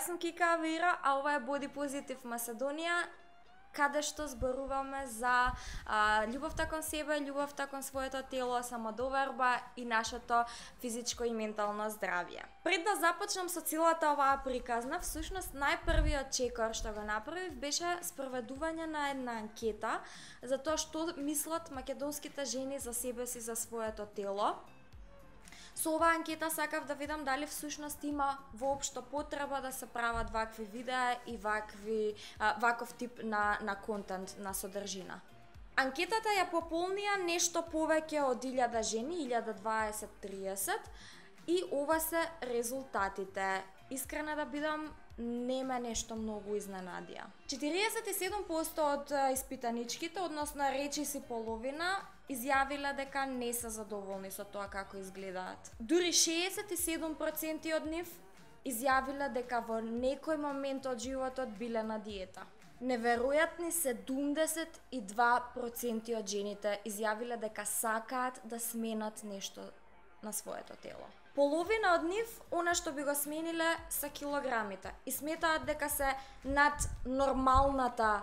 Јас сум Кика Авира, а ова е Body Positive Macedonија, каде што зборуваме за љубовта кон себе, љубовта кон своето тело, самодоверба и нашето физичко и ментално здравје. Пред да започнам со целата оваа приказна, всушност најпрвиот чекор што го направив беше спроведување на една анкета за тоа што мислат македонските жени за себе си, за своето тело. Со оваа анкета сакав да видам дали всушност има воопшто потреба да се прават вакви видеа и ваков тип на контент, на содржина. Анкетата ја пополнија нешто повеќе од 1000 жени, 1020-30, и ова се резултатите. Искрена да бидам, не ме нешто многу изненадија. 47% од испитаничките, односно речиси половина, изјавиле дека не се задоволни со тоа како изгледаат. Дури 67% од нив изјавиле дека во некој момент од животот биле на диета. Неверојатни 72% од жените изјавиле дека сакаат да сменат нешто на своето тело. Половина од нив, она што би го смениле, се килограмите и сметаат дека се над нормалната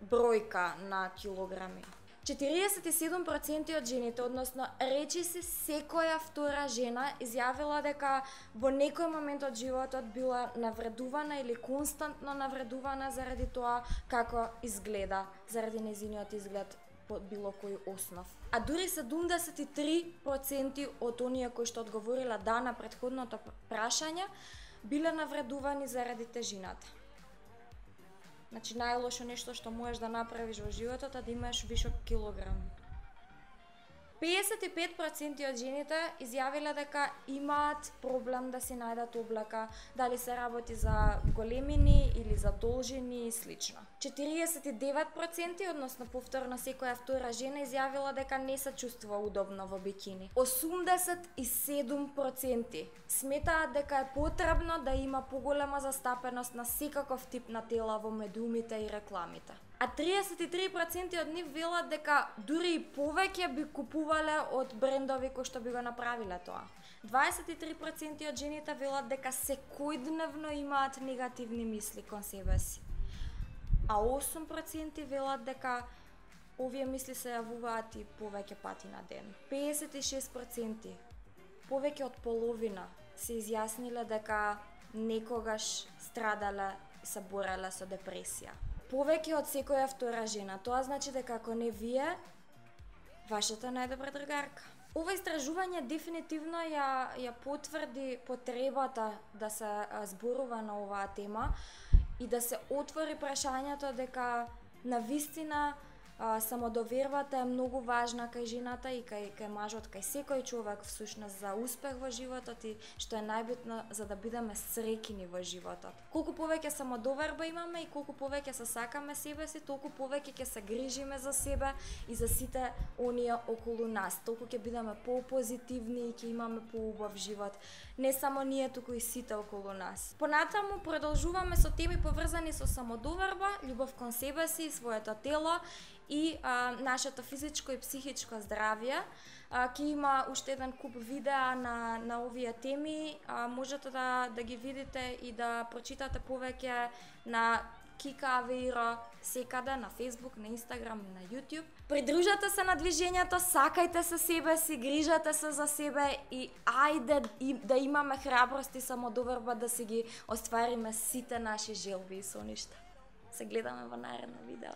бројка на килограми. 47% од жените, односно речиси секоја втора жена, изјавила дека во некој момент од животот била навредувана или константно навредувана заради тоа како изгледа, заради нејзиниот изглед по било кој основ. А дури 73% од оние кои што одговорила да на претходното прашање биле навредувани заради тежината. Значи најлошо нешто што можеш да направиш во животот е да имаш вишок килограм. 55% од жените изјавиле дека имаат проблем да си најдат облека, дали се работи за големини или за должини и слично. 49%, односно повторно секоја втора жена, изјавила дека не се чувствува удобно во бикини. 87% сметаат дека е потребно да има поголема застапеност на секаков тип на тела во медиумите и рекламите. А 33% од нив велат дека дури и повеќе би купувале од брендови кои што би го направиле тоа. 23% од жените велат дека секојдневно имаат негативни мисли кон себе си. А 8% велат дека овие мисли се јавуваат и повеќе пати на ден. 56%, повеќе од половина, се изјасниле дека некогаш страдале и се бореле со депресија. Повеќе од секоја втора жена. Тоа значи дека ако не вие, вашата најдобра другарка. Ова истражување дефинитивно ја потврди потребата да се зборува на оваа тема и да се отвори прашањето дека навистина самодовербата е многу важна кај жената и кај мажот, кај секој човек всушност за успех во животот и што е најбитно за да бидеме среќни во животот. Колку повеќе самодоверба имаме и колку повеќе се сакаме себе си, толку повеќе ќе се грижиме за себе и за сите оние околу нас. Толку ќе бидеме попозитивни и ќе имаме поубав живот. Не само ние, туку и сите околу нас. Понатаму продолжуваме со теми поврзани со самодоверба, љубов кон себе си и своето тело и нашето физичко и психичко здравје. Ќе има уште еден куп видеа на овие теми. Можете да ги видите и да прочитате повеќе на Кика Авира секаде, на Facebook, на Instagram и на YouTube. Придружете се на движењето, сакајте се себе си, грижете се за себе и ајде да имаме храброст и самодоверба да си ги оствариме сите наши желби и соништа. Се гледаме во наредно видео.